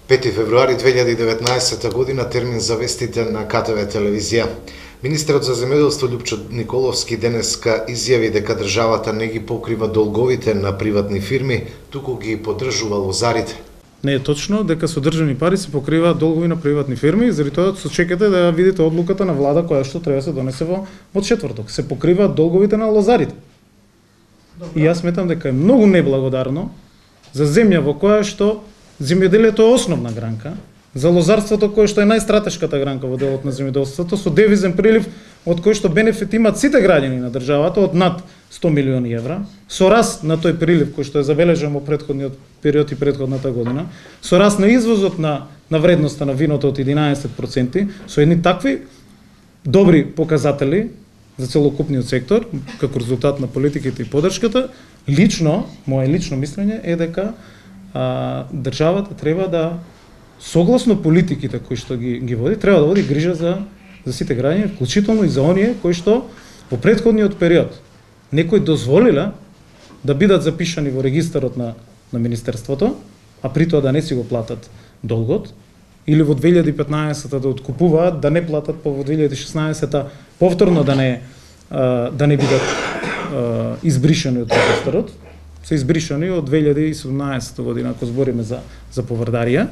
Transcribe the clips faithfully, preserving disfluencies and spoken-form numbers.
пети февруари две илјади и деветнаесетта година, термин за вестите на К Т В телевизија. Министерот за земјоделство Љупчо Николовски денеска изјави дека државата не ги покрива долговите на приватни фирми, туку ги поддржува лозарите. Не е точно дека со државни пари се покриваат долгови на приватни фирми, заради тоа се чекате да видите одлуката на влада која што треба да се донесе во во четврток. Се покриваат долговите на лозарите. Добре. И јас сметам дека е многу неблагодарно за земја во која што земјоделието е основна гранка, за лозарството кое што е најстратешката гранка во делот на земјоделството, со девизен прилив од кој што бенефит имаат сите граѓани на државата од над сто милиони евра, со раст на тој прилив кој што е забележан во претходниот период и претходната година, со раст на извозот на на вредноста на виното од единаесет проценти, со едни такви добри показатели за целокупниот сектор, како резултат на политиките и поддршката, лично, мое лично мислење е дека а, државата треба да, согласно политиките кои што ги, ги води, треба да води грижа за, за сите граѓани, вклучително и за оние кои што во претходниот период некои дозволиле да бидат запишани во регистарот на, на Министерството, а при тоа да не си го платат долгот, или во две илјади и петнаесетта да откупуваат, да не платат, по во две илјади и шеснаесетта повторно да не, а, да не бидат а, избришани од регистарот, се избришани од две илјади и седумнаесетта година, ако збориме за, за поврдарија.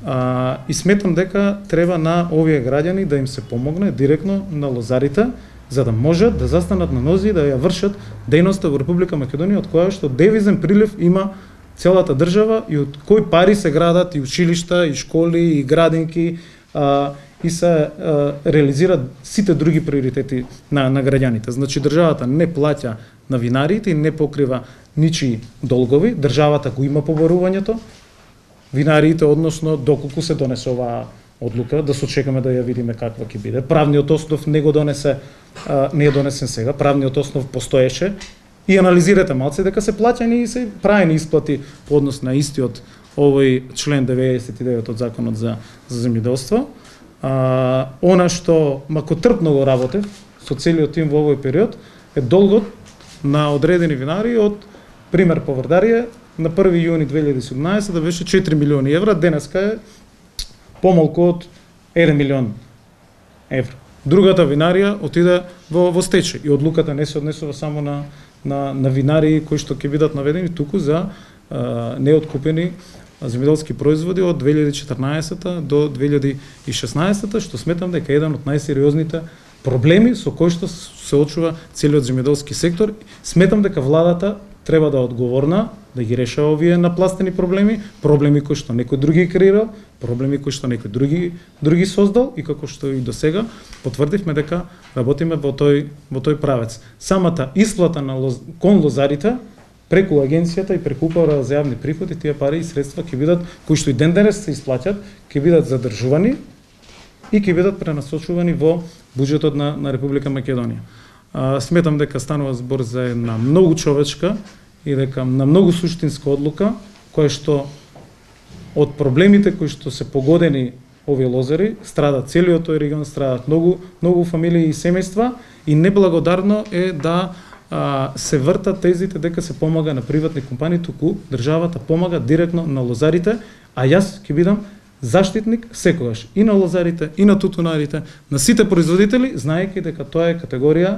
А, и сметам дека треба на овие граѓани да им се помогне директно на лозарите, за да можат да застанат на нози и да ја вршат дејноста во Република Македонија, од која што девизен прилив има целата држава и од кои пари се градат и училишта, и школи, и градинки, а, и се а, реализираат сите други приоритети на, на граѓаните. Значи, државата не плаќа на винариите и не покрива ничии долгови, државата го има побарувањето, винариите, односно, доколку се донесе оваа одлука, да се чекаме да ја видиме каква ќе биде. Правниот основ не го донесе, а, не е донесен сега, правниот основ постоеше, и анализирате малце дека се плаќани и се правени исплати по однос на истиот овој член деветдесет и девет од Законот за, за земјоделство. А, она што макотрпно го работев со целиот тим во овој период е долгот на одредени винари од пример поврдарија на први јуни две илјади и седумнаесетта беше четири милиони евра, денеска е помалку од еден милион евра. Другата винарија отиде во, во стечај и одлуката не се однесува само на на, на винари кои што ќе бидат наведени, туку за а, неоткупени земјоделски производи од две илјади и четрнаесетта до две илјади и шеснаесетта, што сметам дека е еден од најсериозните проблеми со кои што се очува целиот земјоделски сектор. Сметам дека владата треба да е одговорна, да ги решава овие напластени проблеми, проблеми кои што некој други креирал, проблеми кои што некој други други создал и како што и до сега потврдивме дека работиме во тој во тој правец. Самата исплата на лоз, кон лозарите преку агенцијата и преку Управа за јавни приходи, тие пари и средства ќе бидат кои што и ден денес се исплаќаат, ќе бидат задржувани и ќе бидат пренасочувани во буџетот на на Република Македонија. А, сметам дека станува збор за една многу човечка и дека на многу суштинска одлука, која што од проблемите кои што се погодени овие лозари, страдат целиот тој регион, страдат многу многу фамилии и семејства и неблагодарно е да а, се вртат тезите дека се помага на приватни компании, туку државата помага директно на лозарите, а јас ќе бидам заштитник секогаш и на лозарите, и на тутунарите, на сите производители, знаејќи дека тоа е категорија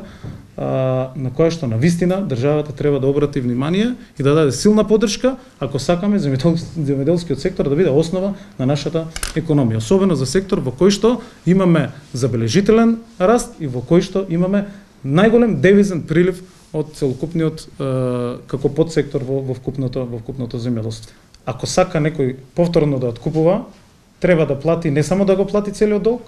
а, на која што на вистина државата треба да обрати внимание и да даде силна поддршка ако сакаме земјоделскиот сектор да биде основа на нашата економија, особено за сектор во кој што имаме забележителен раст и во кој што имаме најголем девизен прилив од целокупниот а, како подсектор во, во вкупното во вкупното земјоделство. Ако сака некој повторно да откупува, треба да плати, не само да го плати целиот долг,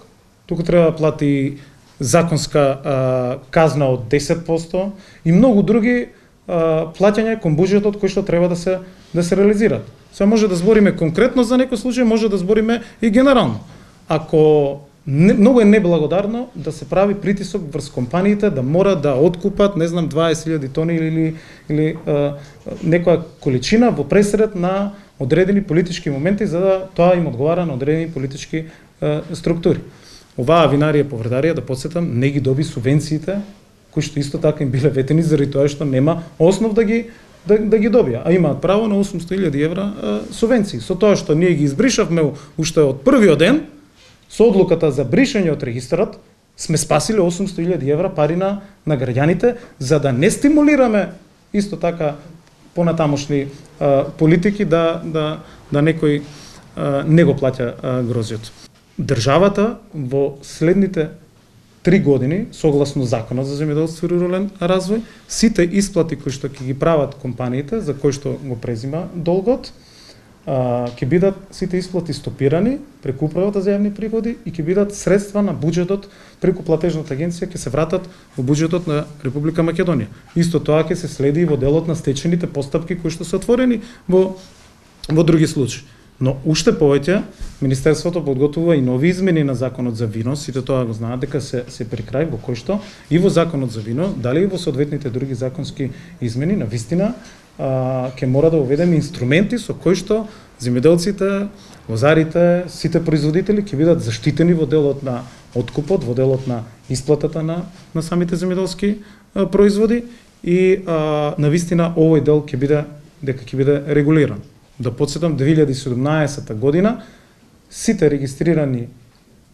туку треба да плати законска а, казна од десет проценти и многу други а, плаќања кон буџетот кои што треба да се да се реализираат. Сега може да збориме конкретно за некој случај, може да збориме и генерално. Ако не, многу е неблагодарно да се прави притисок врз компаниите да мора да откупат, не знам, дваесет илјади тони или или а, некоја количина во пресред на одредени политички моменти, за да тоа им одговара на одредени политички е, структури. Оваа винарија поврдарија, да подсетам, не ги доби субвенциите, кои што исто така им биле ветени заради тоа што нема основ да ги да, да ги добија, а имаат право на осумсто илјади евра а, субвенции. Со тоа што ние ги избришавме уште од првиот ден, со одлуката за бришење од регистарот, сме спасиле осумсто илјади евра пари на, на граѓаните, за да не стимулираме исто така понатамошни а, политики да, да, да некој а, не го плаќа а, грозиот. Државата во следните три години, согласно Законот за земјоделство и рурален развој, сите исплати кои што ќе ги прават компаниите, за кои што го презима долгот, ќе бидат сите исплати стопирани преку управата за јавни приходи и ќе бидат средства на буџетот преку платежната агенција ќе се вратат во буџетот на Република Македонија. Исто тоа ќе се следи и во делот на стечените постапки кои што се отворени во во други случаи. Но уште повеќе Министерството подготвува и нови измени на Законот за вино, сите тоа го знаат дека се се при крај, во кој што и во Законот за вино, дали и во соодветните други законски измени, навистина а, ќе мора да уведеме инструменти со кои што земјоделците, лозарите, сите производители ќе бидат заштитени во делот на откупот, во делот на исплатата на на самите земјоделски а, производи и а, навистина овој дел ќе биде дека ќе биде регулиран. Да подсетам, две илјади и седумнаесета година сите регистрирани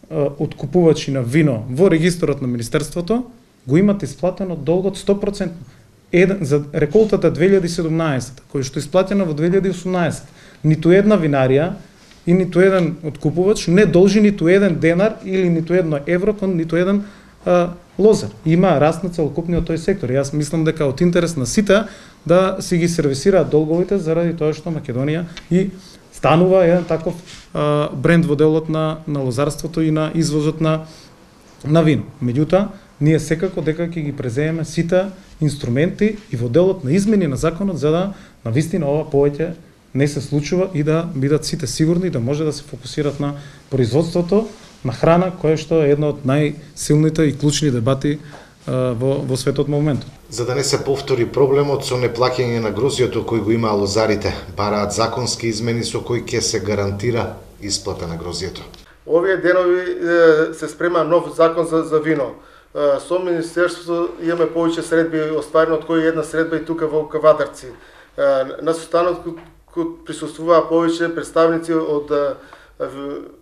а, откупувачи на вино во регистарот на Министерството го имат исплатено долгот сто проценти. Еден, за реколтата две илјади и седумнаесета, која што исплатена во две илјади и осумнаесета, ниту една винарија и ниту еден откупувач не должи ниту еден денар или ниту едно евро кон ниту еден а, лозар. Има раст на целокупниот тој сектор. Јас мислам дека од интерес на сите да си ги сервисираат долговите заради тоа што Македонија и станува еден таков а, бренд во делот на, на лозарството и на извозот на, на вино. Меѓутоа, ние секако дека ќе ги преземеме сите инструменти и во делот на измени на законот за да навистина ова повеќе не се случува и да бидат сите сигурни да може да се фокусират на производството на храна, кое што е една од најсилните и клучни дебати а, во, во светот моментот. За да не се повтори проблемот со неплаќање на грозиото кој го имаа лозарите, бараат законски измени со кои ќе се гарантира исплата на грозието. Овие денови се спрема нов закон за, за вино. Со Министерството имаме повеќе средби остварено, од кои една средба и тука во Кавадарци. На состанот присуствуваа повеќе представници од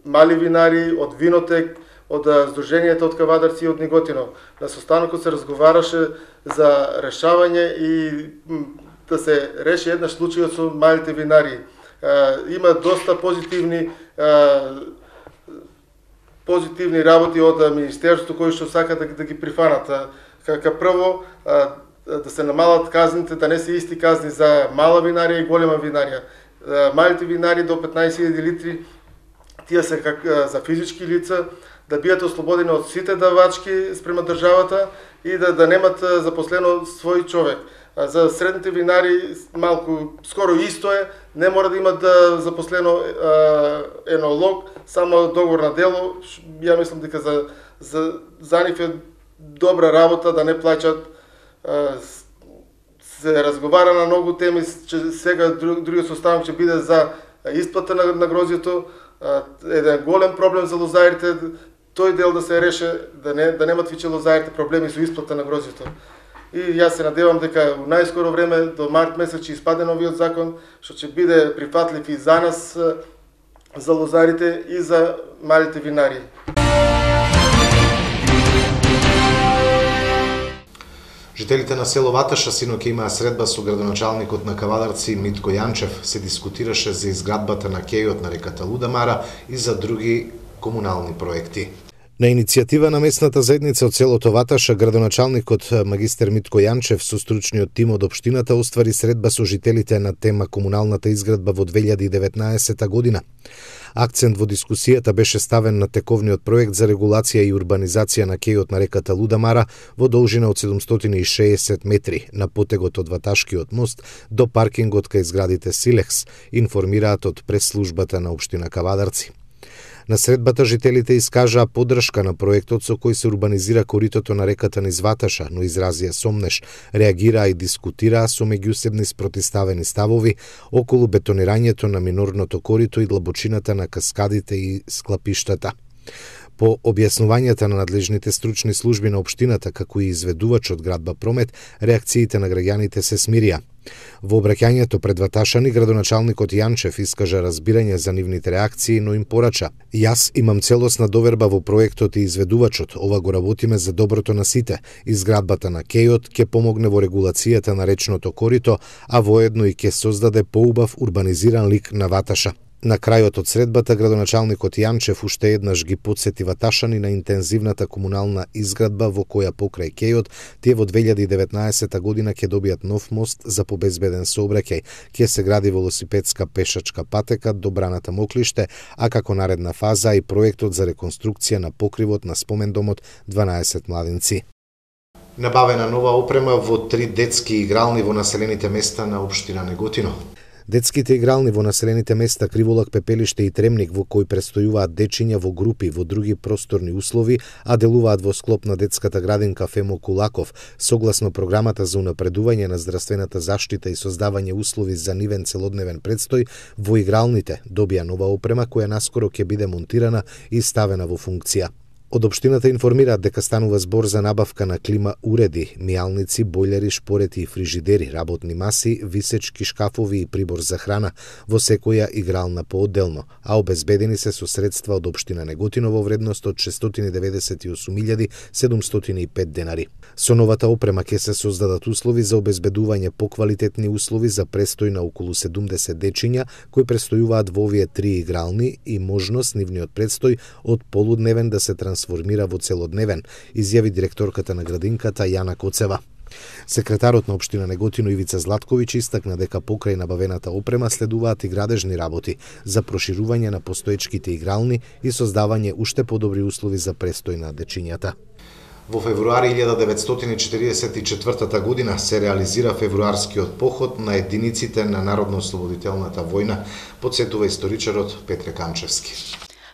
мали винари, од Винотек, од Сдруженијата од Кавадарци и од Неготино. На состанокот се разговараше за решавање и да се реши еднаш случајот со малите винари. Има доста позитивни позитивни работи од Министерството кои што сакат да, да ги прифанат. Ка прво да се намалат казните, да не се исти казни за мала винарија и голема винарија. Малите винари до петнаесет илјади литри, тие се как за физички лица, да бидат ослободени од сите давачки спрема државата и да, да немат запослено свој човек. За средните винари малку скоро исто е, не мора да имат да запослено енолог, само договор на дело. Ја мислам дека за за за нив е добра работа да не плаќат. Се разговара на многу теми, че сега другиот состанок ќе биде за исплата на, на грозието, еден голем проблем за лозарите, тој дел да се реше, да не да немат више лозарите проблеми со исплата на грозието. И јас се надевам дека во најскоро време до март месец ќе испаде новиот закон, што ќе биде прифатлив и за нас, за лозарите и за малите винари. Жителите на село Ваташа синоќа имаа средба со градоначалникот на Кавадарци Митко Јанчев. Се дискутираше за изградбата на кејот на реката Лудамара и за други комунални проекти. На иницијатива на местната заедница од селото Ваташа, градоначалникот магистер Митко Јанчев со стручниот тим од општината оствари средба со жителите на тема комуналната изградба во две илјади и деветнаесета година. Акцент во дискусијата беше ставен на тековниот проект за регулација и урбанизација на кејот на реката Лудамара во должина од седумстотини и шеесет метри на потегот од Ваташкиот мост до паркингот кај зградите Силекс, информираат од пресслужбата на општина Кавадарци. На средбата жителите искажаа поддршка на проектот со кој се урбанизира коритото на реката низ Ваташа, но изразија сомнеш, реагираа и дискутираа со меѓусебни спротивставени ставови околу бетонирањето на минорното корито и длабочината на каскадите и склапиштата. По објаснувањата на надлежните стручни служби на општината, како и изведувачот градба Промет, реакциите на граѓаните се смирија. Во обраќањето пред Ваташани, градоначалникот Јанчев искажа разбирање за нивните реакции, но им порача: "Јас имам целосна доверба во проектот и изведувачот, ова го работиме за доброто на сите. Изградбата на кејот ќе помогне во регулацијата на речното корито, а воедно и ќе создаде поубав урбанизиран лик на Ваташа." На крајот од средбата, градоначалникот Јанчев уште еднаш ги потсети Ваташани на интензивната комунална изградба во која покрај кејот тие во две илјади и деветнаесетта година ќе добијат нов мост за побезбеден сообраќај, ќе се гради велосипедска пешачка патека до браната Моклиште, а како наредна фаза и проектот за реконструкција на покривот на спомендомот дванаесет младинци. Набавена нова опрема во три детски игрални во населените места на општина Неготино. Детските игрални во населените места Криволак, Пепелиште и Тремник, во кои престојуваат дечиња во групи во други просторни услови, а делуваат во склоп на детската градинка Фемо Кулаков, согласно програмата за унапредување на здравствената заштита и создавање услови за нивен целодневен предстој, во игралните добија нова опрема која наскоро ќе биде монтирана и ставена во функција. Од општината информираат дека станува збор за набавка на клима уреди, мијалници, бојлери, шпорети и фрижидери, работни маси, висечки шкафови и прибор за храна во секоја игрална поодделно, а обезбедени се со средства од општина Неготино во вредност од шестстотини деветдесет и осум илјади седумстотини и пет денари. Со новата опрема ќе се создадат услови за обезбедување поквалитетни услови за престој на околу седумдесет дечиња кои престојуваат во овие три игрални и можност нивниот престој од полудневен да се трансформира во целодневен, изјави директорката на градинката Јана Коцева. Секретарот на општина Неготино Ивица Златковиќ истакна дека покрај набавената опрема следуваат и градежни работи за проширување на постоечките игрални и создавање уште подобри услови за престој на дечињата. Во февруари илјада деветстотини четиридесет и четвртата година се реализира февруарскиот поход на единиците на Народно-ослободителната војна, потсетува историчарот Петре Камчевски.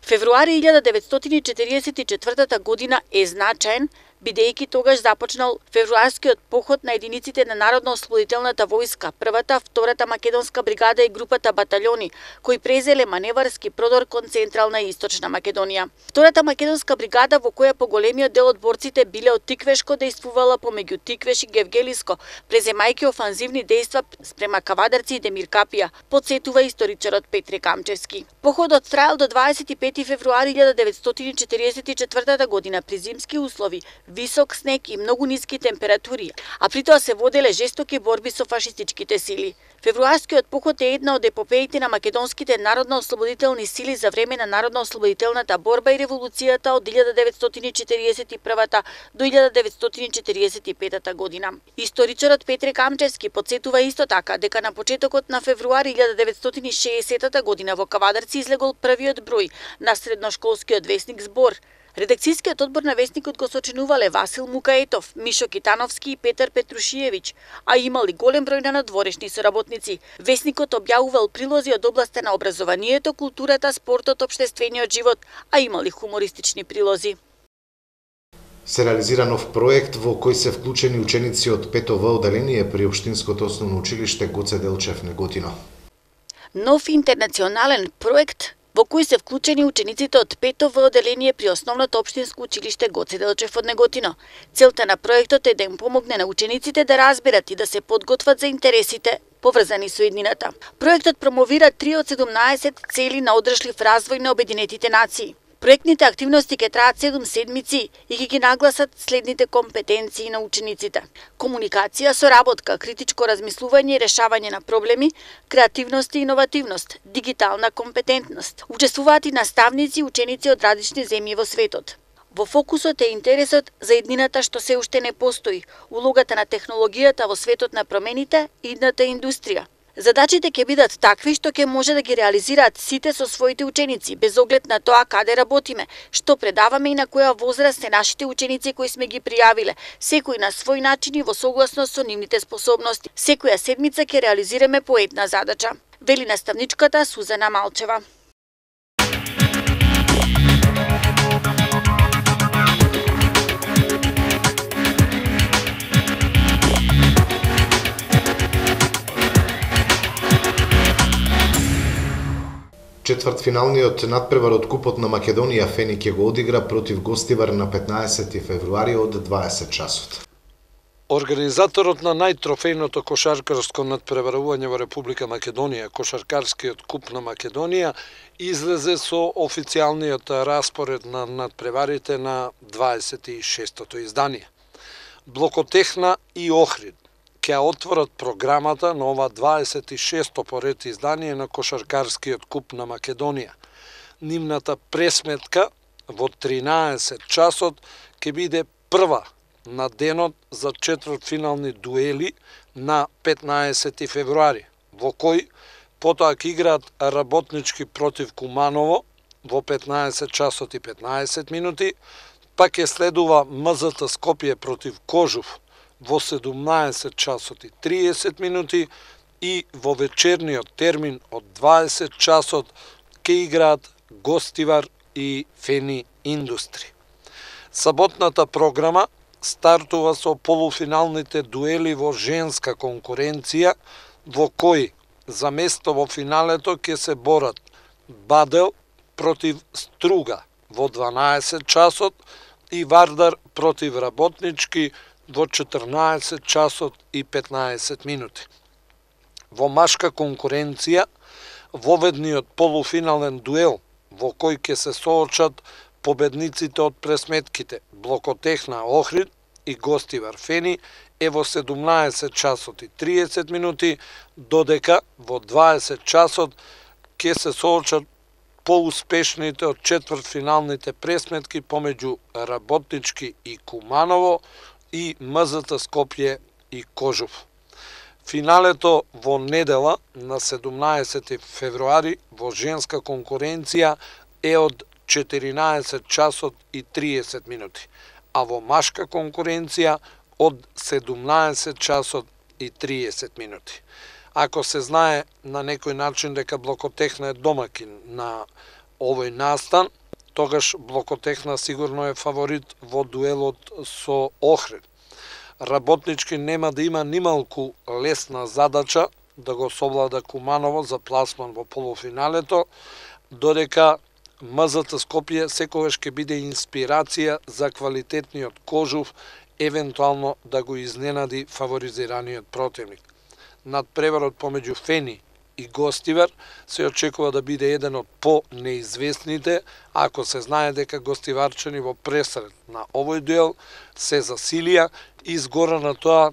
Февруари илјада деветстотини четиридесет и четвртата година е значаен, бидејќи тогаш започнал февруарскиот поход на единиците на Народно-ослободителната војска, првата, втората македонска бригада и групата батальони, кои презеле маневарски продор кон Централна и Источна Македонија. Втората македонска бригада, во која поголемиот дел од борците биле од Тиквешко, дејствувала помеѓу Тиквеш и Гевгелиско, преземајќи офанзивни дејства спрема Кавадарци и Демиркапија, потсетува историчарот Петре Камчевски. Походот траел до дваесет и пети февруари илјада деветстотини четиридесет и четвртата година при зимски услови, висок снег и многу ниски температури, а при тоа се воделе жестоки борби со фашистичките сили. Февруарскиот поход е една од епопеите на македонските народно-ослободителни сили за време на народно-ослободителната борба и револуцијата од илјада деветстотини четиридесет и првата до илјада деветстотини четиридесет и петата година. Историчарот Петре Камчевски потсетува исто така дека на почетокот на февруари илјада деветстотини шеесеттата година во Кавадарци излегол првиот број на средношколскиот весник Збор. Редакцијскиот одбор на весникот го сочинувале Васил Мукаетов, Мишо Китановски и Петар Петрушиевиќ, а имали голем број на надворешни соработници. Весникот објавувал прилози од областа на образованието, културата, спортот, општествениот живот, а имали хумористични прилози. Се реализира нов проект во кој се вклучени ученици од пето В одделение при Општинското основно училиште Гоце Делчев Неготино. Нов интернационален проект во кој се вклучени учениците од пето В одделение при Основното општинско училиште Гоце Делчев од Неготино. Целта на проектот е да им помогне на учениците да разберат и да се подготват за интересите поврзани со иднината. Проектот промовира три од седумнаесет цели на одржлив развој на Обединетите нации. Проектните активности ќе траат седум седмици и ќе ги нагласат следните компетенции на учениците: комуникација, соработка, критичко размислување и решавање на проблеми, креативност и иновативност, дигитална компетентност. Учествуваат и наставници и ученици од различни земји во светот. Во фокусот е интересот за иднината што се уште не постои, улогата на технологијата во светот на промените и идната индустрија. Задачите ќе бидат такви што ќе може да ги реализираат сите со своите ученици, без оглед на тоа каде работиме, што предаваме и на која возраст се нашите ученици кои сме ги пријавиле, секој на свој начин и во согласност со нивните способности. Секоја седмица ќе реализираме по една задача, вели наставничката Сузана Малчева. Четвртфиналниот надпревар од Купот на Македонија Фени ќе го одигра против Гостивар на петнаесети февруари од дваесет часот. Организаторот на најтрофејното кошаркарско надпреварување во Република Македонија, Кошаркарскиот куп на Македонија, излезе со официјалниот распоред на надпреварите на дваесет и шестото издание. Блокотехна и Охрид ќе отворат програмата на ова дваесет и шесто поред издание на Кошаркарскиот куп на Македонија. Нивната пресметка во тринаесет часот ќе биде прва на денот за четвртфинални дуели на петнаесети февруари, во кој потоа ќе играат Работнички против Куманово во петнаесет часот и петнаесет минути, па ќе следува М З Т Скопје против Кожув во седумнаесет часот и триесет минути и во вечерниот термин од дваесет часот ќе играат Гостивар и Фени Индустри. Саботната програма стартува со полуфиналните дуели во женска конкуренција, во кои за место во финалето ќе се борат Бадел против Струга во дванаесет часот и Вардар против Работнички во четрнаесет часот и петнаесет минути. Во машка конкуренција, воведниот полуфинален дуел во кој ќе се соочат победниците од пресметките Блокотехна Охрид и Гостивар Фени е во седумнаесет часот и триесет минути, додека во дваесет часот ќе се соочат поуспешните од четвртфиналните пресметки помеѓу Работнички и Куманово и М З Т Скопје и Кожув. Финалето во недела на седумнаесети февруари во женска конкуренција е од четиринаесет часот и триесет минути, а во машка конкуренција од седумнаесет часот и триесет минути. Ако се знае на некој начин дека Блокотехна е домакин на овој настан, тогаш Блокотехна сигурно е фаворит во дуелот со Охрид. Работнички нема да има нималку лесна задача да го совлада Куманово за пласман во полуфиналето, додека М З Т Скопје секогаш ќе биде инспирација за квалитетниот Кожув, евентуално да го изненади фаворизираниот противник. Надпреварот помеѓу Фени и Гостивар се очекува да биде еден од по-неизвестните, ако се знае дека гостиварчани во пресред на овој дуел се засилија и згора на тоа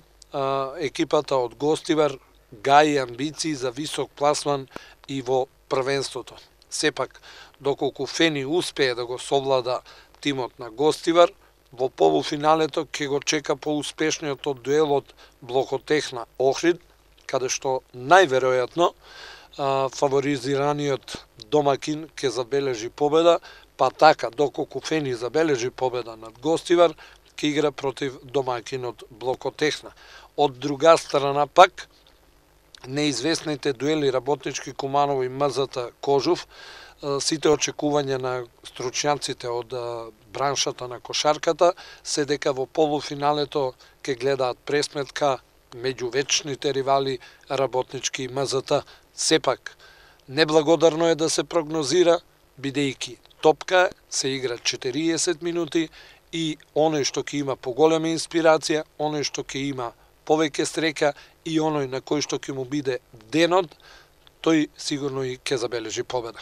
екипата од Гостивар гаи амбиции за висок пласман и во првенството. Сепак, доколку Фени успее да го совлада тимот на Гостивар, во полуфиналето ќе го чека поуспешниот од дуелот Блокотехна Охрид, каде што најверојатно фаворизираниот домакин ќе забележи победа, па така доколку Фени забележи победа над Гостивар, ќе игра против домакинот Блокотехна. Од друга страна пак, неизвестните дуели Работнички Куманово и М З Т Кожув, сите очекувања на стручњаците од браншата на кошарката се дека во полуфиналето ќе гледаат пресметка меѓу вечните ривали Работнички и М З Т. Сепак, неблагодарно е да се прогнозира, бидејќи топка се игра четириесет минути и оној што ќе има поголема инспирација, оној што ќе има повеќе среќа и оној на кој што ќе му биде денот, тој сигурно и ќе забележи победа.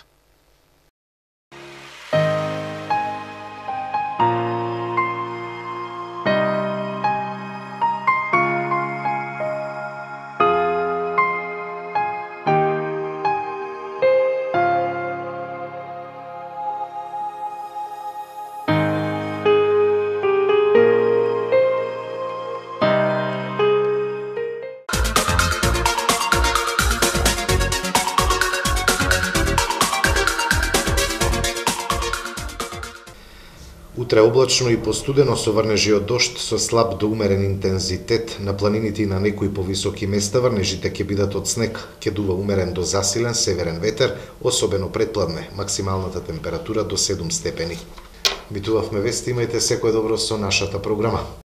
Утре облачно и постудено со врнежи од дожд со слаб до умерен интензитет. На планините и на некои повисоки места врнежите ќе бидат од снег, ќе дува умерен до засилен северен ветер, особено предпладне, максималната температура до седум степени. Битувавме вести, имајте секое добро со нашата програма.